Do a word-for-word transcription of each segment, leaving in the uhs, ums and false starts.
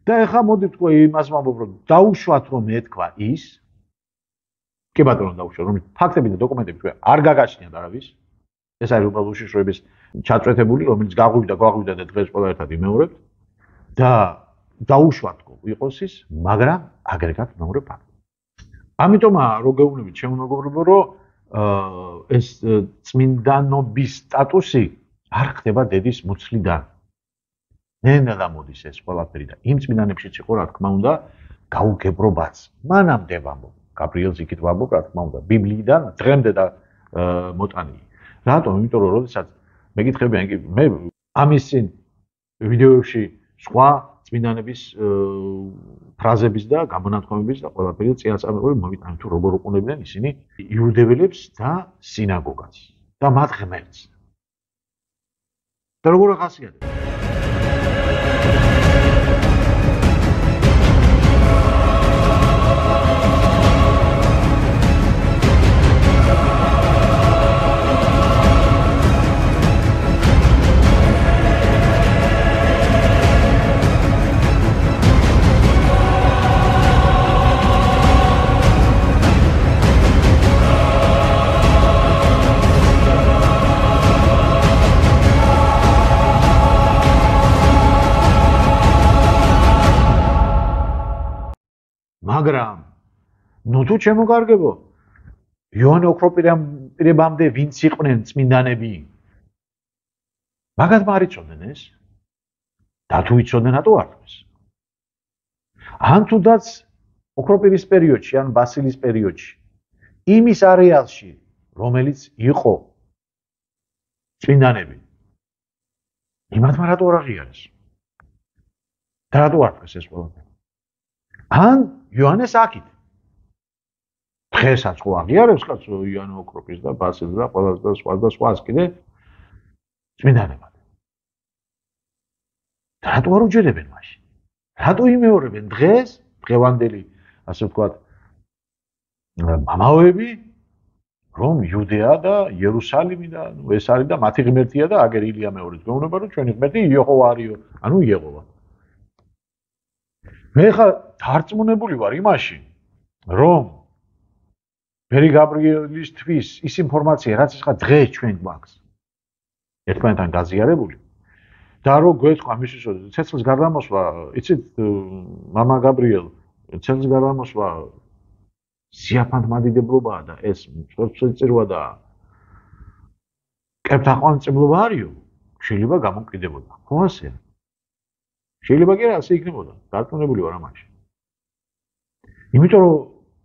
და ეხლა მოდი თქვა იმას ვამბობ, რომ დაუშვათ რომ ეთქვა ის კი ბატონო დაუშვათ, რომ ფაქტები და დოკუმენტები თქვა არ გაგაჩნიათ არავის. ეს არის უბრალოდ უშიშროების ჩაწვეთებული, რომელიც გაღვივდა, გაღვივდა და დღეს ყველა ერთად იმეორებთ და დაუშვათ იყოს ის, მაგრამ აგრეგატ მეორე ფაქტი. ამიტომაა რო გეუბნებით ჩემო მეგობრებო, რომ ეს წმინდანობის სტატუსი არ ხდება დედის მუცლიდან. ნენა გამოდის ეს ყველაფერი და იმ წმინდანებშიც იყო რა თქმა უნდა გაუგებრობაც. მანამდე ვამბობ, გაბრიელს იქით ვამბობ რა თქმა უნდა, ბიბლიიდან დღემდე და მოტანილი. რატომ? იმიტომ რომ როდესაც მეკითხებიან კი მე ამის წინ ვიდეოებში სხვა წმინდანების ფრაზების და გამონათქვამების და ყველაფერი წინასწარმეტყველი მოვიტანე თუ როგორ უყურებდნენ ისინი იუდეველებს და სინაგოგას და მათ ღმერთს. და როგორ ახასიათებს? მაგრამ ნუ თუ შემოგარგებო იოანე ოქროპირებამდე ვინც იყვნენ წმინდანები მაგათ არ იცოდნენ ეს და თუ იცოდნენ რატო არ თქოს ან თუდაც ოქროპირის პერიოდში ან ბასილის პერიოდში იმის არეალში რომელიც იყო წმინდანები იმათმა რატო არ აღიარეს და რატო არ თქოს ეს ყველაფერი ან იოანეს აქით. დღესაც ხო აღიარებს კაცო იოანე ოქროპის და ბასილის და ყველა და სხვა და სხვას კიდე წმინდანებად. რატო არ უჯერებენ მაშინ? რატო იმეორებენ დღეს, დღევანდელი, ასე ვთქვათ, მამაოები, რომ იუდეა და იერუსალიმი და ეს არის და მათი ღმერთია და აგერ ილია მეორეც გვეუბნება რომ ჩვენი ღმერთი იეჰოვა არისო, ანუ იეჰოვა. მე ხა დარწმუნებული ვარ იმაში, რომ მერი გაბრიელისთვის ის ინფორმაცია, რაც ხა დღეს ჩვენ გვაქვს, ერთმანეთთან გაზიარებული და რო გვეთქვა მისთვის ცეცხლის გარდამოსვა, იცით, მამა გაბრიელ, ცეცხლის გარდამოსვა სიაფანტმადიდებლობაა და ეს მსხვერპლწირვა და კეფთაყვანწებლობა არისო, შეიძლება გამომკვიდრებოდა. ხო ასეა? შეიძლება კი რა ასე იქნებოდა, დარწმუნებული ვარ ამაში. იმიტომ რომ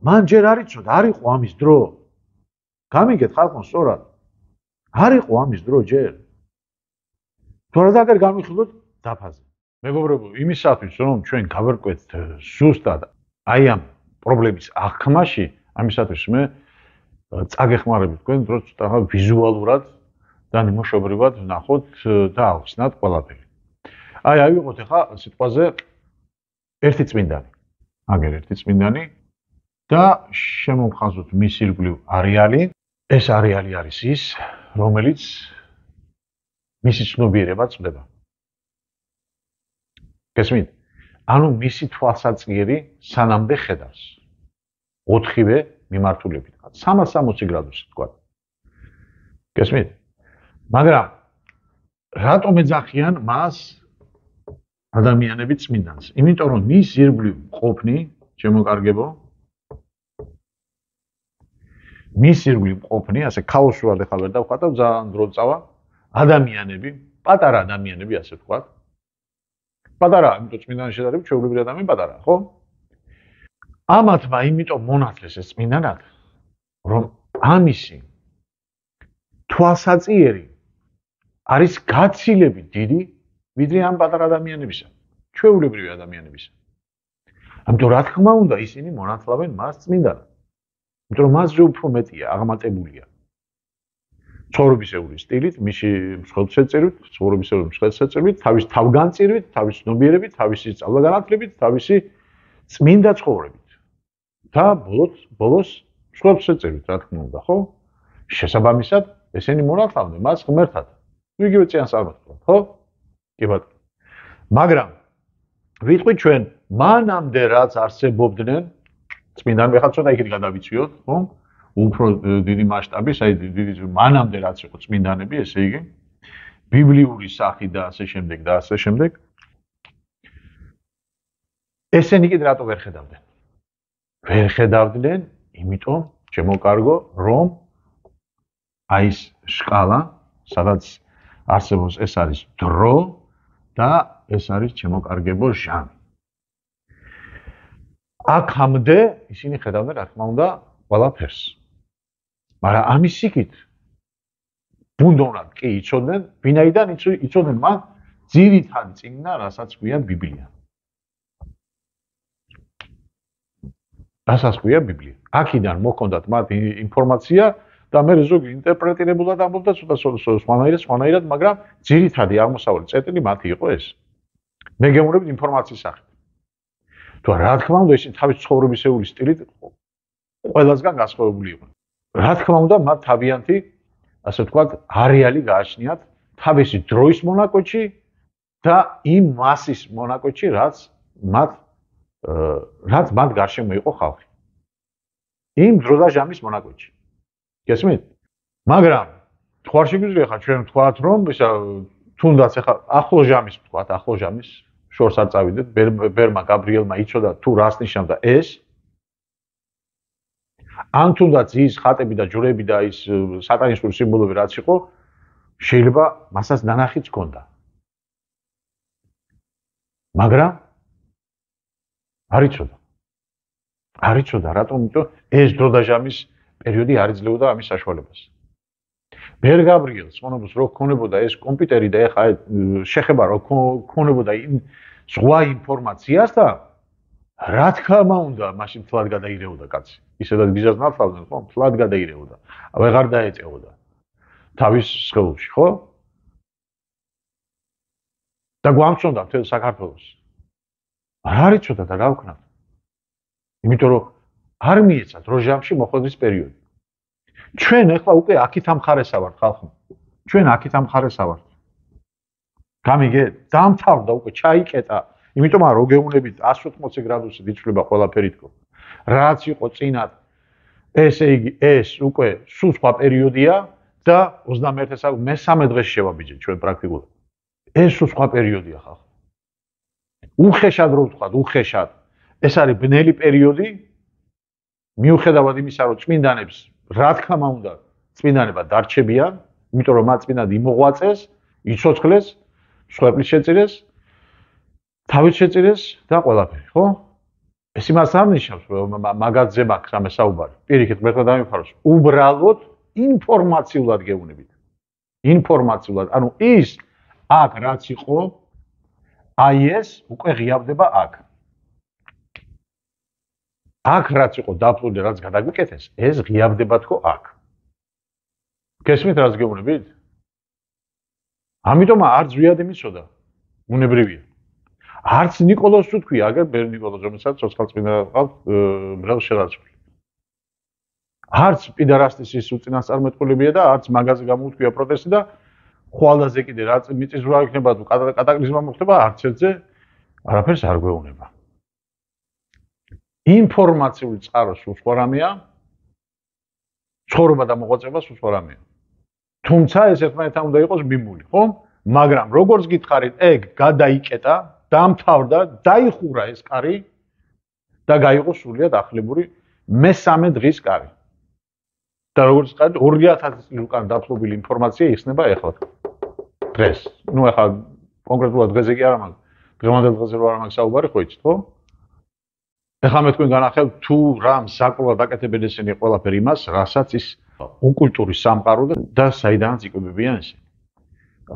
მან ჯერ არ იცოდა, არ იყო ამის დრო. გამიგეთ ხალხო სწორად. არ იყო ამის დრო ჯერ. თორე და აგერ გამიხილოთ დაფაზე. მეგობრებო, იმისათვის რომ ჩვენ გავერკვეთ ზუსტად აი ამ პრობლემის აღქმაში, ამისათვის მე წაგეხმარებით თქვენ დროს ცოტა ვიზუალურად და ნიმუშებრივად ვნახოთ და ავხსნათ ყველაფერი. აი ავიღოთ ახლა სიტყვაზე ერთი წმინდანი. აგერ ერთი წმინდანი და შემოვხაზოთ მის ირგვლივ არეალი. ეს არეალი არის ის, რომელიც მისი ცნობიერება წდება. გესმით? ანუ მისი თვალსაჩინო სანამდე ხედავს. ოთხივე მიმართულებით. სამას სამოცი გრადუსი თქვა. გესმით? მაგრამ რატომ ეძახიან მას ადამიანები წმინდანს? იმიტომ რომ მის ირგვლივ ყოფნი, შემოკარგებო, მის ირგვლივ ყოფნი, ასე ქაოსურად ახლა ვერ დავხატავ, ძალიან დრო წავა, ადამიანები, პატარა ადამიანები, ასე ვთქვათ. პატარა, იმიტომ წმინდანის შედარებით ჩვეულებრივი ადამიანი პატარაა, ხო? ამათმა იმიტომ მონათლეს ეს წმინდანად, რომ ამისი თვალსაჩინო არის გაცილებით დიდი ვიდრე ამ პატარა ადამიანებისა, ჩვეულებრივი ადამიანებისა. ამიტომ რა თქმა უნდა ისინი მონათლავენ მას წმინდანად. იმიტომ რომ მასზე უფრო მეტია, აღმატებულია. ცხოვრებისეული სტილით, მისი მსხვერპლშეწირვით, ცხოვრებისეული მსხვერპლშეწირვით, თავის თავგანწირვით, თავის ცნობიერებით, თავისი სწავლაგანათლებით, თავისი წმინდა ცხოვრებით. და ბოლოს, ბოლოს მსხვერპლშეწირვით, რა თქმა უნდა, ხო? შესაბამისად, ესენი მონათლავდნენ მას ღმერთად. იგივე წინასწარმეტყველად, ხო? კი ბატონო. მაგრამ ვიტყვი ჩვენ მანამდე რაც არსებობდნენ წმინდანები ხა ცოტა იქით გადავიციოთ, ხო? უფრო დიდი მასშტაბის, აი დიდი მანამდე რაც იყო წმინდანები, ესე იგი ბიბლიური სახით და ასე შემდეგ და ასე შემდეგ. ესენი კიდე რატო ვერ ხედავდნენ? ვერ ხედავდნენ, იმიტომ შემოკარგო, რომ აი ეს სკალა, სადაც არსებობს ეს არის დრო და ეს არის შემოკარგებო ჟამი. აქამდე ისინი ხედავდნენ, რა თქმა უნდა, ყველაფერს. მაგრამ ამის იქით ბუნდოვნად კი იცოდნენ, ვინაიდან იცოდნენ მან ძირითადი წიგნა, რასაც ქვია ბიბლია. რასაც ქვია ბიბლია. აქედან მოჰქონდათ მათ ინფორმაცია და მე ზოგი ინტერპრეტირებულად ამბობდა ცოტა სხვანაირად, სხვანაირად, მაგრამ ძირითადი აღმოსავლელი წერტილი მათი იყო ეს. მე გეუბნებით ინფორმაციის სახით. თუ რა თქმა უნდა, ისინი თავის ცხოვრებისეული სტილით ყველასგან განსხვავებული იყვნენ. რა თქმა უნდა, მათ თავიანთი, ასე ვთქვათ, არეალი გააჩნიათ თავისი დროის მონაკვეთში და იმ მასის მონაკვეთში, რაც მათ რაც მათ გარშემო იყო ხალხი. იმ დრო და ჟამის მონაკვეთში. გესმით? მაგრამ თუ არ შეგვიძლია ხა ჩვენ ვთქვათ, რომ ისა თუნდაც ახლა ახლო ჟამის ვთქვათ, ახლო ჟამის შორს არ წავიდეთ, ბერმა გაბრიელმა იცოდა თუ რას ნიშნავდა ეს. ან თუნდაც ის ხატები და ჯვრები და ის სატანისტური სიმბოლოები რაც იყო, შეიძლება მასაც ნანახიც ჰქონდა. მაგრამ არ იცოდა. არ იცოდა, რატომ? იმიტომ ეს დრო და ჟამის პერიოდი არ იძლეოდა ამის საშუალებას. ბერ გაბრიელს მონობს რო ქონებოდა ეს კომპიუტერი და ეხა შეხება რო ქონებოდა სხვა ინფორმაციას და რა თქმა უნდა, მაშინ თლად გადაირეოდა კაცი. ისედაც გიზას ნათლავდნენ, ხო? თლად გადაირეოდა. აღარ დაეწეოდა თავის სხეულში, ხო? და გვამწონდა მთელ საქართველოს. არ იცოდა და რა ვქნათ? იმიტომ რომ არ მიეცათ რო ჟამში მოხვედრის პერიოდი. ჩვენ ახლა უკვე აქით ამხარესა ვართ ხალხო. ჩვენ აქით ამხარესა ვართ. გამიგეთ? დამთავრდა უკვე ჩაიკეტა. იმიტომ რომ რო გეუნებით εκατს ოთხმოცი გრადუსით იცვლება ყველაფერი თქო. რაც იყო წინათ ესე იგი ეს უკვე სულ სხვა პერიოდია და ოცდამეერთე საუკუნის მესამე დღეს შევაბიჯეთ ჩვენ პრაქტიკულად. ეს სულ სხვა პერიოდია ხალხო. უხეშად რო ვთქვათ, უხეშად. ეს არის ბნელი პერიოდი. მიუხედავად იმისა, რომ წმინდანებს რა თქმა უნდა წმინდანება დარჩებიან, იმიტომ რომ მათ წმინდად იმოღვაწეს, იცოცხლეს, მსხვერპლის შეწირეს, თავის შეწირეს და ყველაფერი, ხო? ეს იმას არ ნიშნავს, რომ მაგაზე მაქვს ამე საუბარი. პირიქით, მერტყა დამიფაროს. უბრალოდ ინფორმაციულად გეუბნებით. ინფორმაციულად, ანუ ის აქ რაც იყო, აი ეს უკვე ღიავდება აქ. აქ რაც იყო დაფლული, რაც გადაგვიკეთეს, ეს ღიავდება თქო აქ. გესმით რას გეუბნებით? ამიტომ არც ზვიად მიცოდა. უნებრივია. არც ნიკოლოზ თუ თქვია, აგერ ბერ ნიკოლოზ, რომელსაც ცოცხალწმინდა ყავს ბრელ შერაცხული. არც პიდარასტის ის უწინასწარმეტყველებია და არც მაგაზე გამოუთქვია პროტესტი და ხვალაზე კიდე რაც მიწისძვრა იქნება თუ კატაკლიზმა მოხდება, არც ერთზე არაფერს არ გვეუბნება. ინფორმაციული წყარო სულ სხვა რამეა, ცხოვრება და მოღვაწეობა სულ სხვა რამეა. თუმცა ეს ერთმანეთთან უნდა იყოს მიმული, ხო? მაგრამ როგორც გითხარით, ეგ გადაიკეტა, დამთავრდა, დაიხურა ეს კარი და გაიყო სრულიად ახლებური მესამე დღის კარი. და როგორც გითხარით, ორი ათასი წლის უკან დაფლობილი ინფორმაცია იხსნება ეხლა. დღეს. ნუ ეხლა კონკრეტულად დღეზე კი არა, მაგრამ დღევანდელ დღეზე რა არ მაქვს საუბარი, ხო იცით, ხო? ეხლა მე თქვენ განახელთ თუ რა მსაკლულად აკეთებენ ესენი ყველაფერი იმას, რასაც ის ოკულტური სამყარო და საიდანაც იკვებებიან ესენი.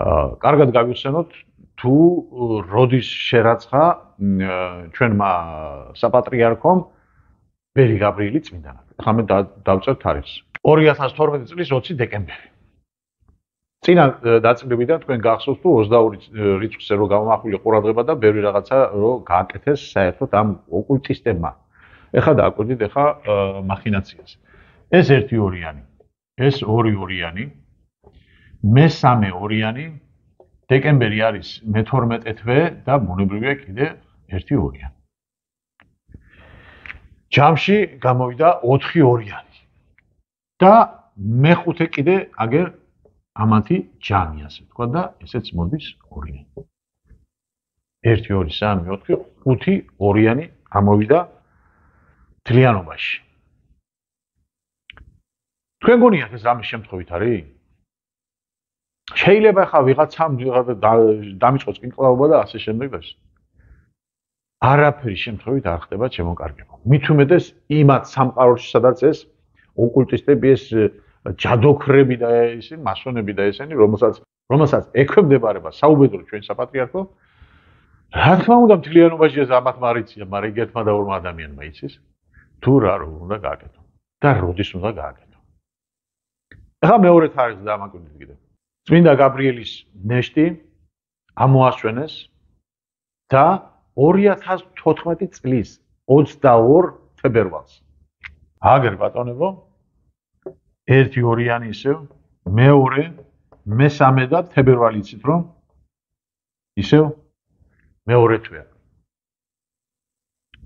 აა, კარგად გავიხსენოთ თუ როდის შერაცხა ჩვენმა საპატრიარქომ ბერი გაბრიელი წმინდანად. ეხლა მე დავწერთ თარიღს. ორი ათას თორმეტი წლის ოცი დეკემბერი. წინა დაწვრილებიდან თქვენ გახსოვთ თუ ოცდაორი რიცხვზე რო გამომახვილი ყურადღება და ბევრი რაღაცა რო გააკეთეს საერთოდ ამ ოკულტისტებმა. ეხლა დააკვირდით ეხლა მახინაციას. ეს ერთი ორიანი, ეს ორი ორიანი, მესამე ორიანი, დეკემბერი არის მეთორმეტე თვე და ბუნებრივია კიდე ერთი ორიანი. ჯამში გამოვიდა ოთხი ორიანი. და მეხუთე კიდე აგერ ამათი ჯამი ასე თქვა და ესეც მოდის ორიანი. ერთი ორი სამი ოთხი ხუთი ორიანი ამოვიდა თლიანობაში. თქვენ გონიათ ეს რამე შემთხვევით არის? შეიძლება ხა ვიღაცამ დამიწყოს კინკლაობა და ასე შემდეგ და არაფერი შემთხვევით არ ხდება შემოკარგება. მით უმეტეს იმათ სამყაროში სადაც ეს ოკულტისტები ეს ჯადოქრები და ისინი მასონები და ესენი რომელსაც რომელსაც ექვემდებარება საუბედური ჩვენ საპატრიარქო რა თქმა უნდა მთლიანობაში ეს ამათ მარიცია, მაგრამ იქ ერთმა და ორმა ადამიანმა იცის თუ რა უნდა გააკეთო და როდის უნდა გააკეთო. ახლა მეორე თარიღს დამაკვირდით კიდევ. წმინდა გაბრიელის ნეშტი ამოასვენეს და ორი ათას თოთხმეტი წლის ოცდაორ თებერვალს. აგერ ბატონებო, ერთი ორიანი ისევ, მეორე, მესამე და თებერვალი იცით რომ ისევ მეორე თვეა.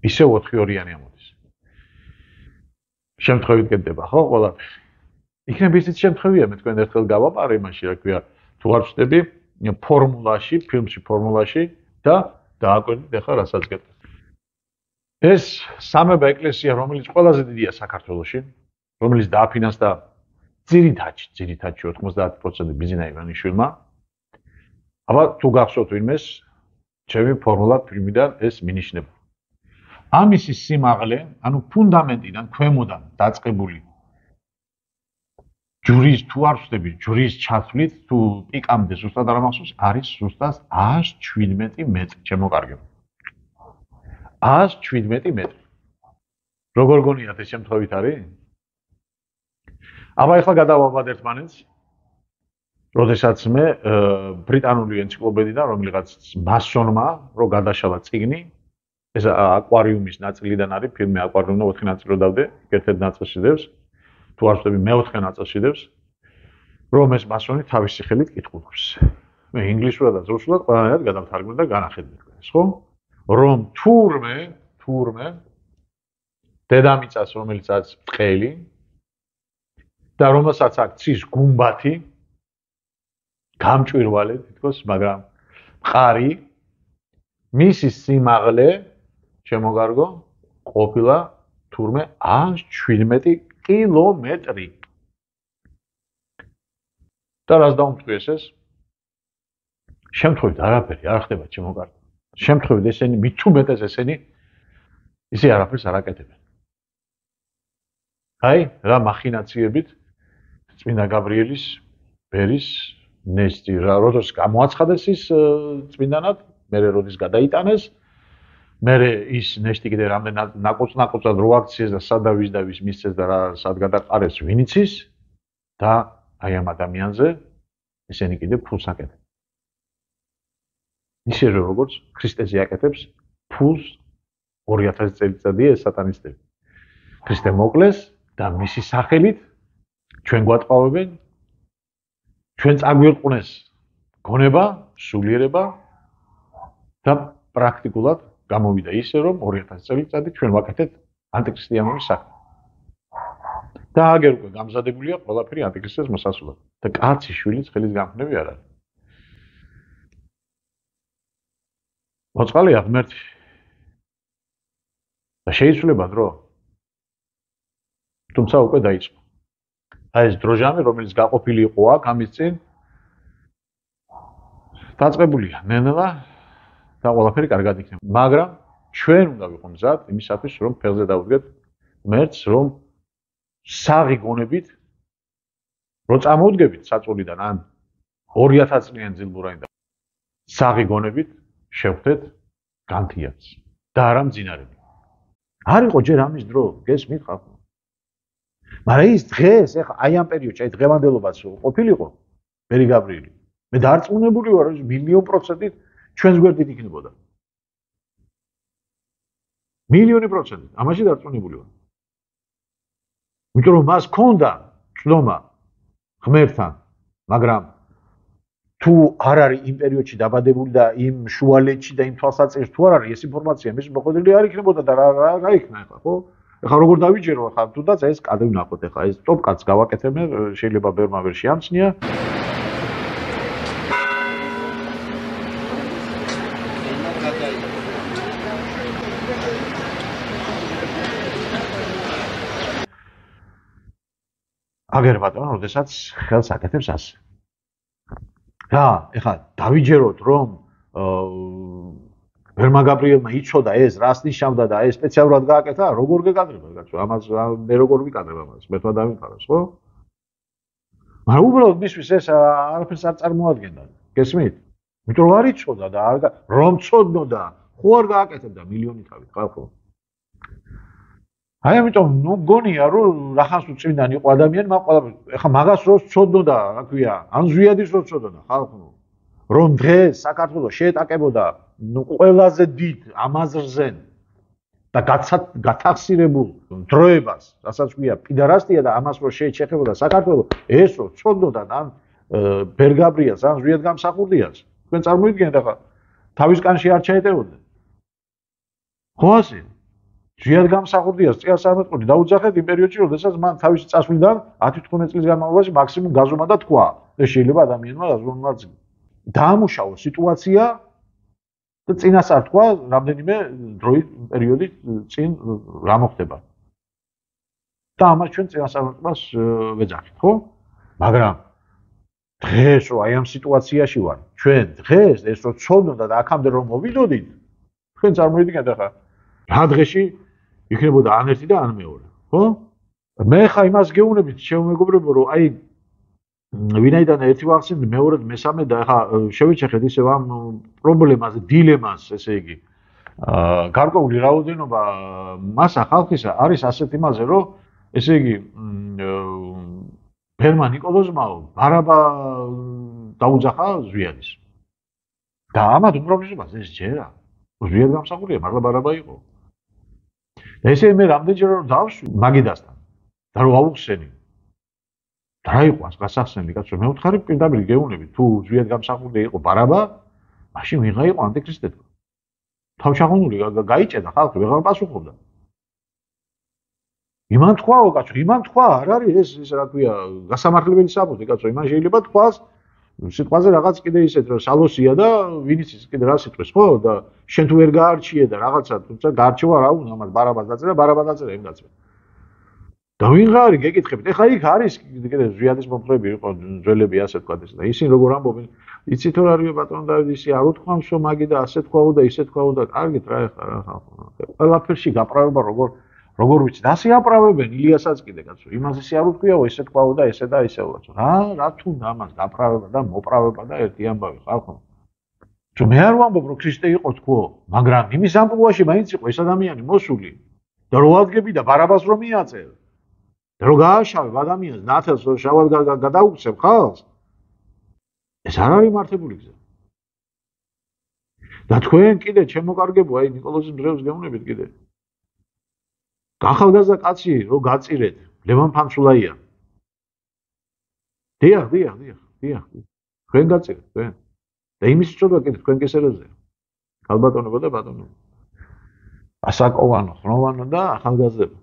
ისევ ოთხი ორიანი ამოდის. შემთხვევით კეთდება ხო ყველაფერი? იქნებ ისიც შემთხვევია, მე თქვენ ერთხელ გავაპარე იმაში, რა ქვია, თუ არ ვწდები ფორმულაში, ფილმში ფორმულაში და დააკვირდით ახლა რასაც გეტყვით. ეს სამება ეკლესია, რომელიც ყველაზე დიდია საქართველოში, რომელიც დააფინანსდა ძირითადში, ძირითადში ოთხმოცდაათი პროცენტი ბიზნა ივანიშვილმა. აბა თუ გახსოვთ ვინმეს, ჩემი ფორმულა ფილმიდან ეს მინიშნება. ამისი სიმაღლე, ანუ ფუნდამენტიდან, ქვემოდან დაწყებული ჯვრის თუ არ ვწდები, ჯვრის ჩათვლით, თუ პიკამდე ზუსტად არ ამახსოვს, არის ზუსტად ას შვიდმეტი მეტრი შემოკარგება. ას შვიდმეტი მეტრი. როგორ გონიათ ეს შემთხვევით არის? აბა ახლა გადავაბად ერთმანეთს. როდესაც მე ბრიტანული ენციკლოპედიიდან რომელიღაც მასონმა რო გადაშალა წიგნი, ეს აკვარიუმის ნაწილიდან არის, ფილმი აკვარიუმი ოთხი ნაწილად დავდე, ერთ-ერთ ნაწილში დევს, თუ არ ვწდები მეოთხე ნაწილში დევს, რომ ეს მასონი თავისი ხელით კითხულობს. მე ინგლისურად და რუსულად ყველანაირად გადავთარგმნე და განახედე თქვენს, ხო? რომ თურმე, თურმე დედამიწას, რომელიც არის ბრტყელი და რომელსაც აქვს ცის გუმბათი, გამჭვირვალე თითქოს, მაგრამ მყარი, მისი სიმაღლე შემოგარგო ყოფილა თურმე ას შვიდმეტი კილომეტრი. და რას დაუმტყიეს ეს? შემთხვევით არაფერი არ ხდება შემოგარგო. შემთხვევით ესენი მით უმეტეს ესენი ისე არაფერს არ აკეთებენ. აი, რა მახინაციებით წმინდა გაბრიელის ბერის ნეშტი რა როდოს გამოაცხადეს ის წმინდანად, მერე როდის გადაიტანეს, მერე ის ნეშტი კიდე რამდენად ნაკუწ-ნაკუწად რო აქციეს და სადა ვის და ვის მისცეს და რა სად გადაყარეს ვინ იცის და აი ამ ადამიანზე ესენი კიდე ფულს აკეთებენ. ისე როგორც ქრისტეზე აკეთებს ფულს ორი ათასი წელიწადია ეს სატანისტები. ქრისტე მოკლეს და მისი სახელით ჩვენ გვატყავებენ, ჩვენ წაგვირყვნეს გონება, სულიერება და პრაქტიკულად გამოვიდა ისე, რომ ორი ათასი წელიწადი ჩვენ ვაკეთეთ ანტიქრისტიანული საქმე. და აგერ უკვე გამზადებულია ყველაფერი ანტიქრისტეს მოსასვლელად. და კაცი შვილის ხელის გამხნევი არ არის. მოწყალია ღმერთი. და შეიცვლება დრო. თუმცა უკვე დაიწყო. აი ეს დროჟამი, რომელიც გაყოფილი იყო აქ ამის წინ, დაწყებულია ნელა და ყველაფერი კარგად იქნება. მაგრამ ჩვენ უნდა ვიყო მზად იმისათვის, რომ ფეხზე დავუდგეთ ღმერთს, რომ საღი გონებით რო წამოვდგებით საწოლიდან ან ორი ათასი წლიან ძილბურაინდა საღი გონებით შევხვდეთ განთიაც და არა მძინარები. არ იყო ჯერ ამის დრო, გესმით ხალხო? მაგრამ ის დღეს, ეხა აი ამ პერიოდში, აი დღევანდელობაც ყოფილიყო ბერი გაბრიელი. მე დარწმუნებული ვარ, რომ მილიონ პროცენტით ჩვენს გვერდით იქნებოდა. მილიონი პროცენტით, ამაში დარწმუნებული ვარ. იმიტომ რომ მას ჰქონდა წვდომა ღმერთთან, მაგრამ თუ არ არის იმ პერიოდში დაბადებული და იმ შუალედში და იმ თვალსაჩინოს თუ არ არის ეს ინფორმაცია მის მოყოლილი არ იქნებოდა და რა რა რა იქნა ახლა ხო? ახლა როგორ დავიჯერო ახლა თუნდაც ეს კადრი ვნახოთ ახლა ეს ტოპ კატს გავაკეთებ შეიძლება ბერმა ვერ შეამჩნია აგერ ბატონო, როდესაც ხელს აკეთებს ასე. რა, ეხლა დავიჯეროთ რომ ბერმა გაბრიელმა იცოდა ეს რას ნიშნავდა და ეს სპეციალურად გააკეთა, როგორ გეკადრება კაცო? ამას მე როგორ ვიკადრებ ამას? მე თქვა დავიფაროს, ხო? მაგრამ უბრალოდ მისთვის ეს არაფერს არ წარმოადგენდა. გესმით? იმიტომ რომ არ იცოდა და არ რომ ცოდნოდა, ხო არ გააკეთებდა მილიონი თავით, ხო? აი ამიტომ ნუ გონია რომ რახანს უწმინდანი იყო ადამიანი, მაგ ყველა ეხა მაგას რო ცოდნოდა, რა ქვია, ან ზვიადის რო ცოდნოდა ხალხო. რომ დღეს საქართველოს შეეტაკებოდა ნუ ყველაზე დიდ ამაზრზე და გათახსირებულ დროებას, რასაც ქვია, პიდარასტია და ამას რო შეეჩეხებოდა საქართველოს, ეს რო ცოდნოდა ან ბერგაბრიას, ან ზვიად გამსახურდიას. თქვენ წარმოიდგინეთ ახლა თავის კანში არ ჩაეტევოდნენ. ხო ასე? ზვიად გამსახურდიას წელს სამეთყოდი დაუძახეთ იმ პერიოდში, როდესაც მან თავისი წასვლიდან ათი თხუთმეტი წლის განმავლობაში მაქსიმუმ გაზომა და თქვა. ეს შეიძლება ადამიანმა გაზომაც დაამუშავა სიტუაცია და წინასწარ თქვა რამდენიმე დროით პერიოდით წინ რა მოხდება. და ამას ჩვენ წინასწარმეტყველს ვეძახით, ხო? მაგრამ დღეს რო აი ამ სიტუაციაში ვარ, ჩვენ დღეს ეს რო ცოდნოდა და აქამდე რომ მოვიდოდით, თქვენ წარმოიდგინეთ ახლა რა დღეში იქნებოდა ან ერთი და ან მეორე, ხო? მე ხა იმას გეუბნებით შემომეგობრებო, რომ აი ვინაიდან ერთი ვახსენდი, მეორედ მესამე და ხა შევიჩეხეთ ისევ ამ პრობლემას, დილემას, ესე იგი, აა გარკვეული რაოდენობა მასა ხალხისა არის ასეთ იმაზე, რომ ესე იგი ბერმა ნიკოლოზმაო ბარაბა დაუძახა ზვიადის. და ამათ უმრავლესობას ეს ჯერა. ზვიად გამსახურია, მაგრამ ბარაბა იყო. და ესე მე რამდენჯერ რომ დავშვი მაგიდასთან და რომ ავუხსენი და რა იყო ას გასახსენდი კაცო მე ვთხარი პირდაპირ გეუბნები თუ ზვიად გამსახურდა იყო ბარაბა მაშინ ვიღა იყო ანტიქრისტე თავშაღუნული გაიჭედა ხალხი ვეღარ პასუხობდა იმან თქვაო კაცო იმან თქვა არ არის ეს ეს რა ქვია გასამართლებელი საბუთი კაცო იმან შეიძლება თქვას სიტყვაზე რაღაც კიდე ისეთ რომ სალოსია და ვინიც ის კიდე რა სიტყვის ხო და შენ თუ ვერ გაარჩიე და რაღაცა თუმცა გაარჩევა რა უნდა ამას ბარაბას დაწერა ბარაბა დაწერა იმ დაწერა და ვინ ღარი გეკითხებით ეხლა იქ არის კიდე ზვიადის მომხრეები იყო ძველები ასე თქვა ეს და ისინი როგორ ამბობენ იცით რა არის ბატონო დავით ისი არ უთქვამსო მაგი და ასე თქვაო და ისე თქვაო და კარგით რა ეხლა რა ყველაფერში გაправება როგორ როგორ ვიცით ასე აправებენ ილიასაც კიდე კაცო იმას ისე არ უთქვიაო ესე თქვაო და ესე და ისე ვაცო რა რა თუნდა ამას გაправება და მოправება და ერთი ამბავი ხალხო თუ მე არ ვამბობ რომ ქრისტე იყო თქო მაგრამ იმის ამბავში მაინც იყო ეს ადამიანი მოსული და რო ადგები და ბარაბას რომ მიაწერ და რო გააშავებ ადამიანს ნათელს რო შავად გადაუქცევ ხალხს ეს არ არის მართებული გზა და თქვენ კიდე ჩემო კარგებო აი ნიკოლოზის მძევლს გეუბნებით კიდე ახალგაზრდა კაცი რო გაწირეთ ლევან ფანცულაია დიახ დიახ დიახ დიახ თქვენ გაწირეთ თქვენ და იმის წოდება კიდე თქვენ გესერებზე ალბატონებო და ბატონებო ასაკოვანო ხროვანო და ახალგაზრდა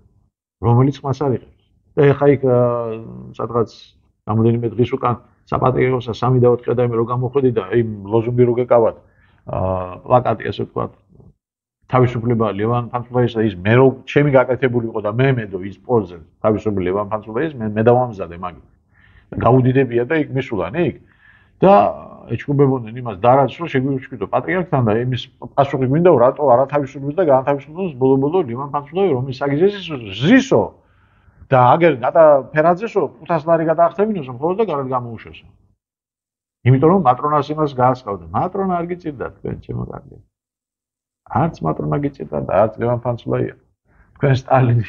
რომელიც მას არიღებს და ეხა იქ სადღაც რამოდენიმე დღის უკან საპატრიარქოსა სამი და ოთხი ადამიანი რო გამოხვედი და იმ ლოზუნგი რო გეკავათ პლაკატი ასე ვთქვათ თავისუფლება ლევან ფანცულაის ის მე რო ჩემი გაკეთებული იყო და მე მედო ის პოზზე თავისუფლება ლევან ფანცულაის მე მე დავამზადე მაგი გაუდიდებია და იქ მისულან იქ და ეჩქუბებოდნენ იმას დარაც რომ შეგვიჩქიდო პატრიარქთან და იმის პასუხი გვინდა რატო არა თავისუფლებს და განთავისუფლებს ბოლო-ბოლო ლევან ფანცულაი რომის აგიზეს ზისო და აგერ გატა ფერაძესო ხუთას ლარი გადაახტევინოს მხოლოდ და გარეთ გამოუშვესო იმიტომ რომ მატრონას იმას გაასყავდა მატრონა არ გიწირდა თქვენ ჩემო კარგი არც მატრონა გიწირდა და არც ლევან ფანცულაია თქვენ სტალინი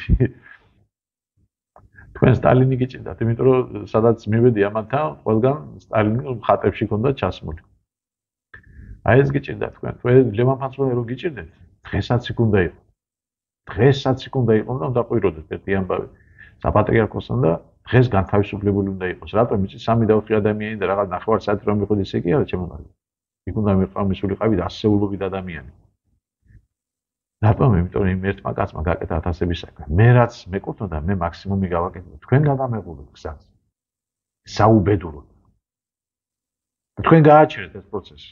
თქვენ სტალინი გიწირდათ იმიტომ რომ სადაც მივედი ამათთან ყველგან სტალინი ხატებში ქონდა ჩასმული აი ეს გიწირდა თქვენ თქვენ ლევან ფანცულაია რო გიწირდეთ დღესაც იქ უნდა იყო დღესაც იქ უნდა იყო და უნდა ყვიროდეთ ერთი ამბავი საპატრიარქოსთან და დღეს განთავისუფლებული უნდა იყოს. რატომ იცი სამი და ოთხი ადამიანი და რაღაც ნახევარ საათი რომ მიყვidi ესე კი არა ჩემო კარგი. იქ უნდა მიყავმისულიყავი და ასეულობით ადამიანი. რატომ? იმიტომ რომ იმ ერთმა კაცმა გაკეთა ათასების საქმე. მე რაც მეკუთვნოდა, მე მაქსიმუმი გავაკეთე. თქვენ გადამეღულოთ გზას. საუბედუროდ. თქვენ გააჩერეთ ეს პროცესი.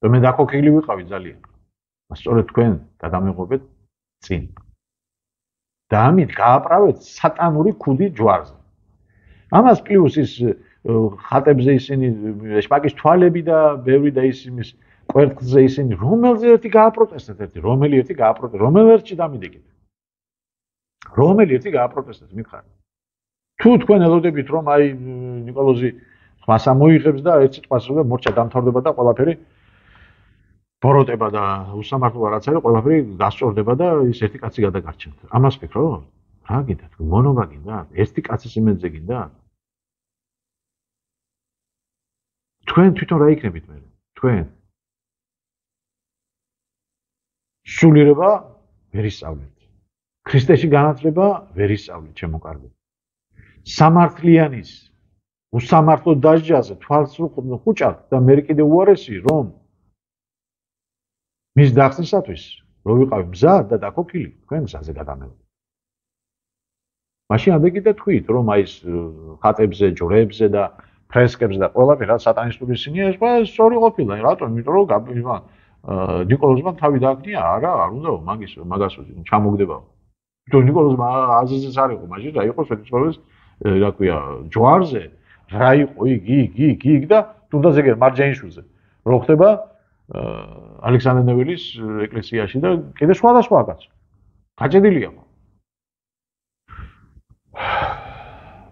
და მე დაქოქილი ვიყავი ძალიან. სწორედ თქვენ გადამეღობეთ წინ. და ამით გააправეთ სატანური ქუდი ჯვარზე. ამას პლუს ის ხატებზე ისინი შპაკის თვალები და ბევრი და ის იმის კვერთხზე ისინი რომელზე ერთი გააპროტესტეთ ერთი რომელი ერთი გააპროტესტეთ რომელ ერთში დამიდეკით. რომელი ერთი გააპროტესტეთ მითხარი. თუ თქვენ ელოდებით რომ აი ნიკოლოზი ხმას ამოიღებს და ერთ სიტყვას რომ მორჩა დამთავრდება და ყველაფერი ბოროტება და უსამართლობა რაც არის ყველაფერი გასწორდება და ის ერთი კაცი გადაგარჩენთ. ამას ფიქრობ? რა გინდა თქვენ მონობა გინდა? ერთი კაცის იმედზე გინდა? თქვენ თვითონ რა იქნებით მე? თქვენ სულიერება ვერ ისწავლეთ. ქრისტეში განათლება ვერ ისწავლეთ, ჩემო კარგო. სამართლიანის უსამართლო დასჯაზე თვალს ხუჭავთ და მე კიდე უარესი რომ მის დახსნისათვის რო ვიყავი მზად და დაქოქილი, თქვენ გზაზე გადამეღოთ. მაშინ ამბეკი და თქვით რომ აი ეს ხატებზე, ჯვრებზე და ფრესკებზე და ყველაფერი რა სატანისტური სინია ეს ყველა სწორი ყოფილა. რატომ? იმიტომ რომ გაბიმა ნიკოლოზმა თავი დააგდია, არა, არ უნდა მაგის მაგას ჩამოგდებაო. თვითონ ნიკოლოზმა აზიზეს არ იყო, მაშინ რა იყო სვეტიცხოვლის რა ქვია, ჯვარზე, რა იყო იგი, იგი, იგი, იგი და თუნდაც ეგ მარჯანიშვილზე. რო ხდება ალექსანდრე ნეველის ეკლესიაში და კიდე სხვადასხვა კაც. გაჭედილია.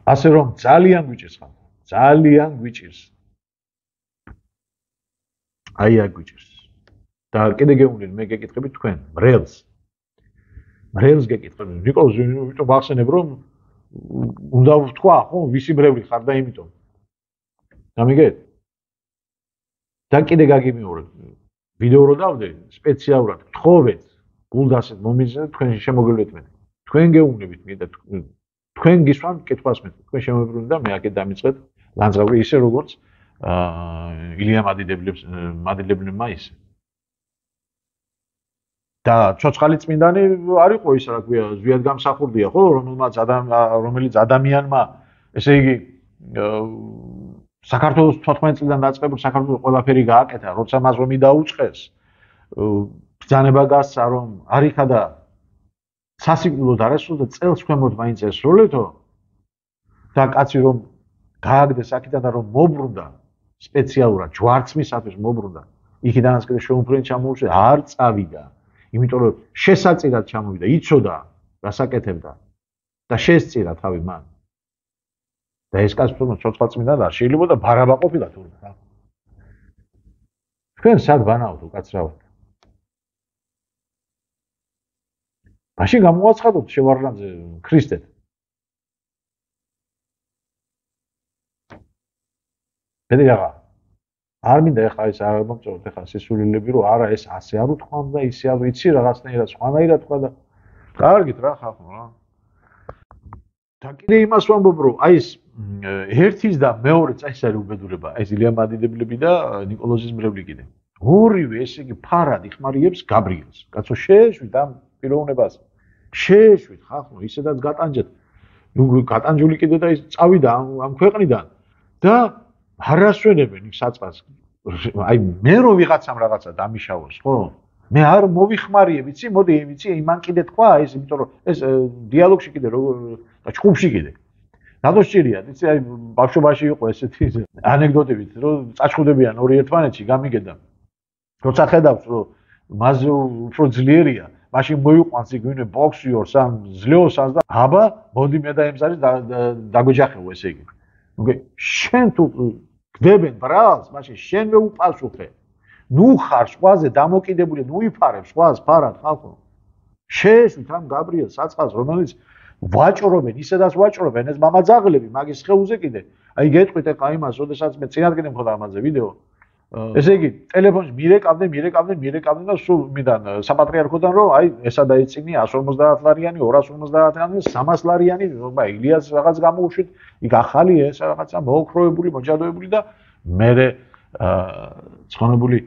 ასე რომ ძალიან გვიჭირს ხან. ძალიან გვიჭირს. აი აქ გვიჭირს. და კიდე გეუბნები მე გეკითხებით თქვენ მრელს. მრელს გეკითხებით. ნიკოლოზ ვიტო ვახსენებ რომ უნდა ვთქვა ხო ვისი მრევლი ხარ და იმიტომ. გამიგეთ? და კიდე გაგიმეორებ. ვიდეო რო დავდე სპეციალურად გთხოვეთ გულდასეთ მომიზნეთ თქვენ შემოგევლეთ მე. თქვენ გეუბნებით მე და თქვენ გისვამ კითხვას მე. თქვენ შემოებრუნეთ და მე აქეთ დამიწყეთ ლანძღავი ისე როგორც აა ილია მადიდებლებს მადიდებლებმა ისე. და ცოცხალი წმინდანი არ იყო ის რა ქვია ზვიად გამსახურდია ხო რომელმაც რომელიც ადამიანმა ესე იგი საქართველოს თოთხმეტ წლიდან დაწყებულ საქართველოს ყველაფერი გააკეთა როცა მას რომი დაუწყეს ბრძანება გასცა რომ არიხა და სასიკვდილოდ არასრულდა წელს ქვემოთ მაინც ესროლეთო და კაცი რომ გააგდეს აქედან და რომ მობრუნდა სპეციალურად ჯვარცმისათვის მობრუნდა იქიდანაც კიდე შეუმფრენი ჩამოუშვეს არ წავიდა იმიტომ რომ შესაწირად ჩამოვიდა, იცოდა რასაკეთებდა და შესწირა თავი მან. და ეს კაცი თუნდაც ცოცხალწმინდანი არ შეიძლება და ბარაბა ყოფილა თურმე რა. თქვენ სად ბანაოთ უკაცრავად? მაშინ გამოაცხადოთ შევარდნაძე ქრისტეთ. ბედი რაღა არ მინდა ეხლა ეს არ მომწონთ ეხლა სისულელები რომ არა ეს ასე არ უთქვამ და ისე არ ვიცი რაღაცნაირად სხვანაირად თქვა და კარგით რა ხახო რა და კიდე იმას ვამბობ რომ აი ეს ერთის და მეორეც აი ეს არის უბედურება აი ეს ილია მადიდებლები და ნიკოლოზის მრევლი კიდე ორივე ესე იგი ფარად იხმარიებს გაბრიელს კაცო შეეშვით ამ პიროვნებას შეეშვით ხახო ისედაც გატანჯეთ ნუ გატანჯული კიდე და ის წავიდა ამ ქვეყნიდან და არასვენებენ იქ საწყას აი მე რო ვიღაცამ რაღაცა დამიშავოს ხო მე არ მოვიხმარიე ვიცი მოდი ვიცი იმან კიდე თქვა ეს იმიტომ რომ ეს დიალოგში კიდე როგორ და ჩხუბში კიდე რატო სჭირია იცი აი ბავშვობაში იყო ესეთი ანეკდოტებით რომ წაჩხუდებიან ორი ერთმანეთში გამიგედა როცა ხედავს რომ მასზე უფრო ძლიერია მაშინ მოიყვანს იგვინე ბოქსიორს ამ ძლეოსას და აბა მოდი მე და ემზარის დაგვეჯახეო ესე იგი okay შენ თუ გდებენ ბრალს მაშინ შენვე უპასუხე ნუ ხარ სხვაზე დამოკიდებული ნუ იფარებ სხვას ფარად ხალხო შეეშვით ამ გაბრიელ საწყას რომელიც ვაჭრობენ ისედაც ვაჭრობენ ეს მამაძაღლები მაგის ხეულზე კიდე აი გეტყვით ეხა იმას როდესაც მე წინადგინე მქონდა ამაზე ვიდეო ესე იგი, ტელეფონს მირეკავდნენ, მირეკავდნენ, მირეკავდნენ და სულ მიდან საპატრიარქოდან რომ აი ესა დაიწინი εκατს ორმოცდაათ ლარიანი, ორას ორმოცდაათ ლარიანი, სამას ლარიანი, ხა ილიას რაღაც გამოუშვით, იქ ახალი ეს რაღაცა მოოქროებული, მოჯადოებული და მე ცხონებული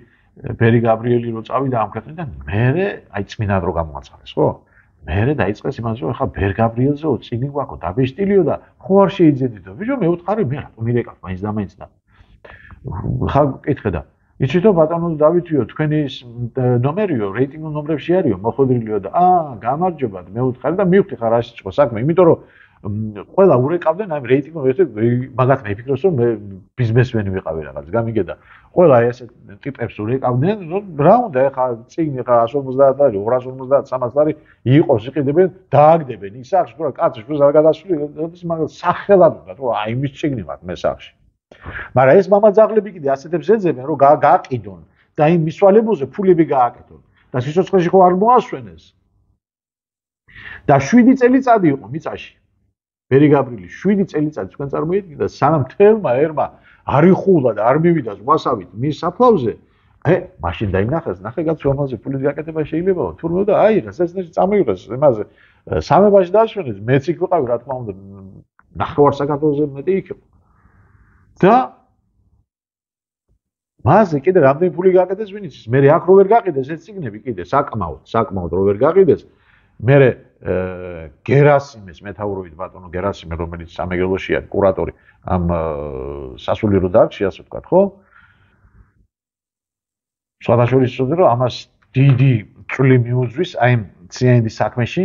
ბერი გაბრიელი რო წავიდა ამ ქვეყნიდან, მე აი წმინდად რო გამოაცხადეს, ხო? მე დაიწყეს იმას რომ ხა ბერ გაბრიელზეო წიგნი გვაქვს, დაბეშტილიო და ხო არ შეიძლებდითო. ბიჭო მე ვთხარი მე რატომ მირეკავ მაინც და მაინც და ხა კითხე და იცით რომ ბატონო დავითიო თქვენი ნომერიო რეიტინგ ნომრებში არისო მოხდრილიო და აა გამარჯობა მე ვთხარი და მივხვდი ხარ რა შეჭო საქმე იმიტომ რომ ყველა ურეკავდნენ ამ რეიტინგ მაგათ მეფიქროს რომ მე ბიზნესმენი ვიყავი რაღაც გამიგე და ყველა ეს ტიპებს ურეკავდნენ რომ რა უნდა ეხა წიგნი ხა εκατს ორმოცდაათ ლარი ორას ორმოცდაათ სამას ლარი იყოს იყიდებენ დააგდებენ ის სახში თუ რა კაცი შუს არ გადასული როდის მაგას სახელად უნდა რომ აი იმის წიგნი ვარ მე სახში მაგრამ ეს მამაძაღლები კიდე ასეთებს ეძებენ რომ გააყიდონ და იმ მისვალებულზე ფულები გააკეთონ და სიცოცხლეში ხო არ მოასვენეს და შვიდი წელიწადი იყო მიწაში ბერი გაბრიელი შვიდი წელიწადი თქვენ წარმოიდგინეთ და სანამ თელმა ერმა არ იხულა და არ მივიდა ზღვასავით მის საფლავზე ე მაშინ დაინახეს ნახე კაც რომელზე ფული გაკეთება შეიძლებაო თურმე და აიღეს ეს ნეში წამოიღეს იმაზე სამებაში დაშვენეს მეც იქ ვიყავი რა თქმა უნდა ნახევარ საქართველოზე მეტი იქ იყო და მასე კიდე რამდენი ფული გააკეთეს ვინ იცის მე აქ რო ვერ გაყიდეს ეს ციგნები კიდე საკმაოდ საკმაოდ რო ვერ გაყიდეს მე გერასიმეს მეთაურობით ბატონო გერასიმე რომელიც სამეგრელოშია კურატორი ამ სასულიერო დარგში ასე ვთქვათ ხო სხვადასხვა ისწოდა რომ ამას დიდი წვლილი მიუძღვის აი ციანიდის საქმეში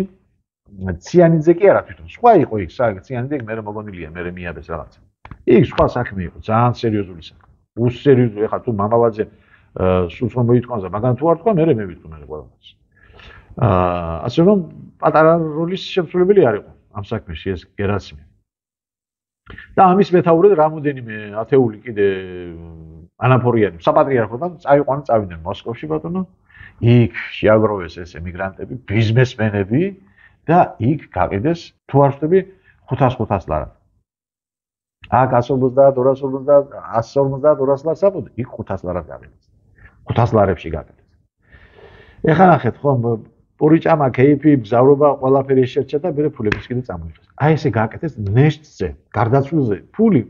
ციანიძე კი არა თვითონ სხვა იყო იქ ციანიძე მე მოგონილია მე მიაბეს რაღაცა იქ სხვა საქმე იყო ძალიან სერიოზული საქმე უსერიოზული ხა თუ მამალაძე სულს რომ მოითხოვს და მაგან თუ არ თქვა მე მე ვიტყვი მე ყველას აა ასე რომ პატარა როლის შემსრულებელი არ იყო ამ საქმეში ეს გერასიმე და ამის მეთაურად რამოდენიმე ათეული კიდე ანაფორიანი საპატრიარქოდან წაიყვანენ წავიდნენ მოსკოვში ბატონო იქ შეაგროვეს ეს ემიგრანტები ბიზნესმენები და იქ გაყიდეს თუ არ ვთქვი ხუთას ხუთას ლარად აქ εκατს ორმოცდაათ ორას ორმოცდაათ εκατს ორმოცდაათ ორას ლარს აბოდ იქ ხუთას ლარად გაყიდეს ხუთას ლარებში გაყიდეს ეხლა ნახეთ ხო პურიჭამა კეიფი მგზავრობა ყველაფერი შეერჩა და მე ფულების კიდე წამოიღეს აი ესე გააკეთეს ნეშტზე გარდაცვლილზე ფული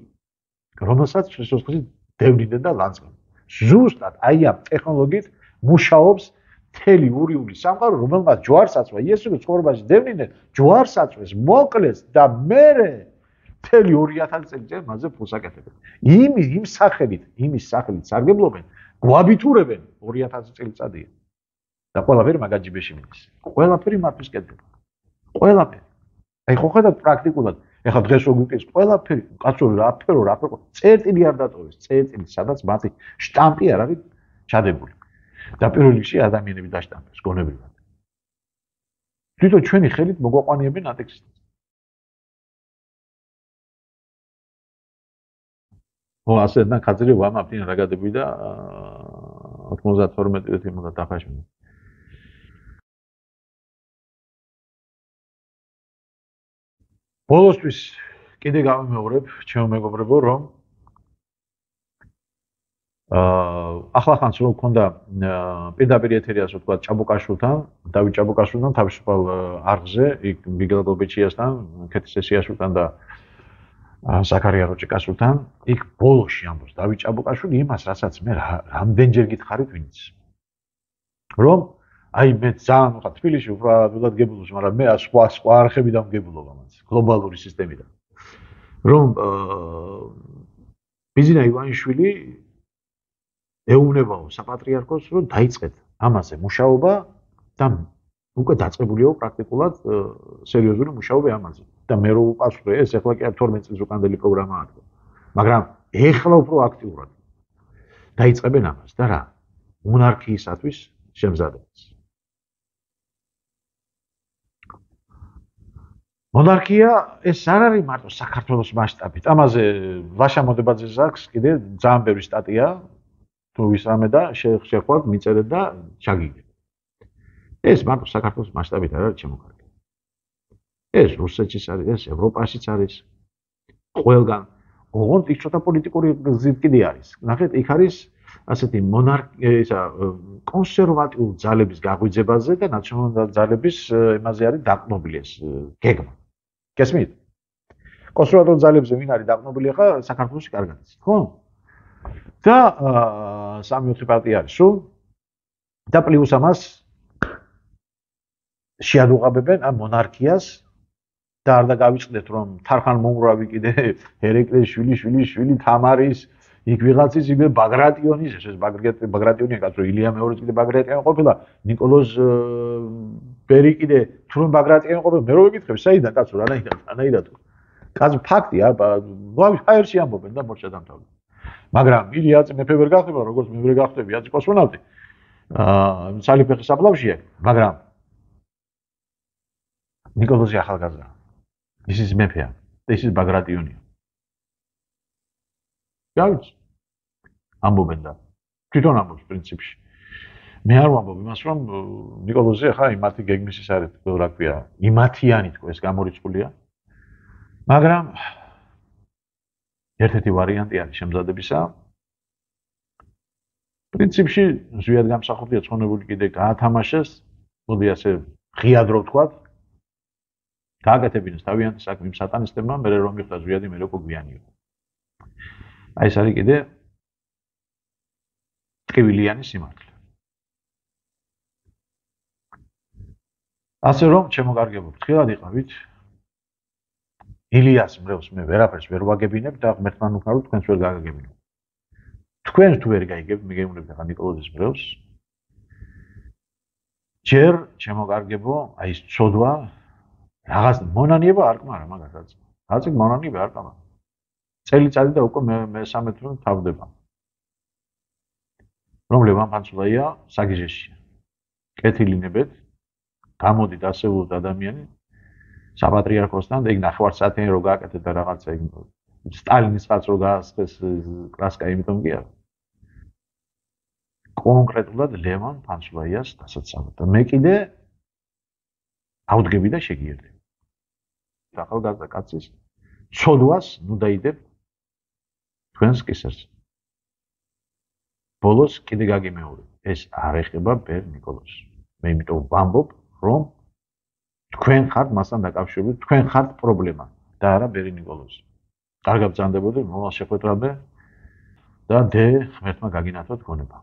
რომელსაც სიცოცხლეში დევნიდნენ და ლანძღავდნენ ზუსტად აი ამ ტექნოლოგიით მუშაობს მთელი ურიული სამყარო რომელმაც ჯვარს აწვა იესო ცხოვრებაში დევნიდნენ ჯვარს აწვეს მოკლეს და მე მთელი ორი ათასი წელიწად მასზე ფულს აკეთებენ იმ იმ სახელით იმის სახელით სარგებლობენ გვაბიტურებენ ორი ათასი წელიწადია და ყველაფერი მაგაჯიბეში მიდის. ყველაფერი მართვის კეთდება. ყველაფერი. აი ხო ხედავთ პრაქტიკულად, ეხლა დღეს რო გიკეთეს ყველაფერი, კაცო რაფერო რაფერო წერტილი არ დატოვეს, წერტილი, სადაც მათი შტამპი არ არის ჩადებული. და პირველ რიგში ადამიანები დაშტამპეს გონებრივად. თვითონ ჩვენი ხელით მოგვაყვანიებენ ატექსტს. ო ასე და ხაზრი ვამაფინ რა გადები და ათმოცდათორმეტი წელი უნდა დაფაშმინო. ბოლოსთვის კიდე გავიმეორებ ჩემო მეგობრებო რომ აა ახლახანს რო მქონდა პირდაპირ ეთერი ასე ვთქვათ ჭაბუკაშვილთან დავით ჭაბუკაშვილთან თავისუფალ არხზე იქ მიგელ გობეჩიასთან ქეთის სესიაშვილთან და ზაქარია როჭიკაშვილთან იქ ბოლოში ამბობს დავით ჭაბუკაშვილი იმას რასაც მე რამდენჯერ გითხარით ვინც რომ აი მე ძალიან ვიყავ თბილისში უბრალოდ გებულობს მაგრამ მე სხვა სხვა არხებიდან ვგებულობა მას გლობალური სისტემიდან რომ ბიზნა ივანიშვილი ეუბნებაო საპატრიარქოს რომ დაიწყეთ ამაზე მუშაობა და უკვე დაწყებულიო პრაქტიკულად სერიოზული მუშაობა ამაზე და მე რო უპასუხე ეს ეხლა კი თორმეტ წელს უკანდელი პროგრამაა მაგრამ ეხლა უფრო აქტიურად დაიწყებენ ამას და რა მონარქიისათვის შემზადებას მონარქია ეს არ არის მარტო საქართველოს მასშტაბით ამაზე ლაშა მოდებაძეს აქვს კიდე ძალიან ბევრი სტატია თუ ვისამე და შეხვდით მიწერეთ და ჩაგიგეთ ეს მარტო საქართველოს მასშტაბით არ არის შემოქმედი ეს რუსეთშიც არის ეს ევროპაშიც არის ყველგან ოღონდ იქ ცოტა პოლიტიკური გზით კიდე არის ნახეთ იქ არის ასეთი მონარქია კონსერვატიულ ძალების გაღვიძებაზე და ნაციონალურ ძალების იმაზე არის დაყრდნობილი ეს გეგმა. გესმით? კონსერვატიულ ძალებზე ვინ არის დაყრდნობილი ახლა საქართველოში კარგად იცით, ხო? და სამი ოთხი პარტია არის სულ და პლუს ამას შეადუღაბებენ ამ მონარქიას და არ დაგავიწყდეთ რომ თარხან მომგრავი კიდე ერეკლეს შვილი შვილი შვილი თამარის იქ ვიღაცის იგივე ბაგრატიონის ეს ბაგრატიონია კაცო ილია მეორეც კიდე ბაგრატიონი ყოფილა ნიკოლოზ ბერი კიდე თუ რომ ბაგრატიონი ყოფილა მე რო ვიკითხებ საიდან კაცო რანაირად რანაირად კაც ფაქტია ნუ აერში ამბობენ და მორჩა დამთავრდა მაგრამ ილია მეფე ვერ გახდება როგორც მე ვერ გახდები აწი კოსმონავტი აა სალიფეხის საფლავშია მაგრამ ნიკოლოზი ახალგაზრდა ის ის მეფეა და ის ის ბაგრატიონია გავიც ამბობენ და თვითონ ამბობს პრინციპში მე არ ვამბობ იმას რომ ნიკოლოზი ახლა იმათი გეგმის ის არის რა ქვია იმათიანი თქო ეს გამორიცხულია მაგრამ ერთ-ერთი ვარიანტი არის შემზადებისა პრინციპში ზვიად გამსახურდია ცხონებული კიდე გაათამაშეს მოდი ასე ღიად რო ვთქვათ გააკეთებინეს თავიანთი საქმე იმ სატანისტებმა მე რომ მიხვდა ზვიადი მე როგორ გვიანი იყო აი ეს არის კიდე ტკივილიანი სიმართლე. ასე რომ ჩემო კარგებო, ფრთხილად იყავით. ილიას მრევლს მე ვერაფერს ვერ ვაგებინებ და ღმერთთან უკრავ თქვენს ვერ გაგაგებინებ. თქვენ თუ ვერ გაიგებთ, მიგეუბნებთ ახლა ნიკოლოზის მრევლს. ჯერ ჩემო კარგებო, აი ეს ცოდვა რაღაც მონანიება არ კმარა მაგასაც. რაც მონანიება არ კმარა. წელიწადი და უკვე მე მესამე თვე თავდება. რომ ლევან ფანცულაია საგიჟეშია. კეთილინებეთ, გამოდით ასეულოთ ადამიანი საპატრიარქოსთან და იქ ნახევარსაათიანი რო გააკეთეთ და რაღაცა იქ სტალინის ხალხს რო გაასხეს კლასკა, იმიტომ კი არა. კონკრეტულად ლევან ფანცულაიას დასაცავად და მე კიდე ავდგები და შეგიერთები. ახალგაზრდა კაცის ცოდვას ნუ დაიდებ თქვენს კისერს. ბოლოს კიდე გაგიმეორებ. ეს არ ეხება ბერ ნიკოლოზს. მე იმიტომ ვამბობ, რომ თქვენ ხართ მასთან დაკავშირებით, თქვენ ხართ პრობლემა და არა ბერი ნიკოლოზი. კარგად ბრძანდებოდი, მოვალ შეხვედრამდე და დე ღმერთმა გაგინათოთ გონება.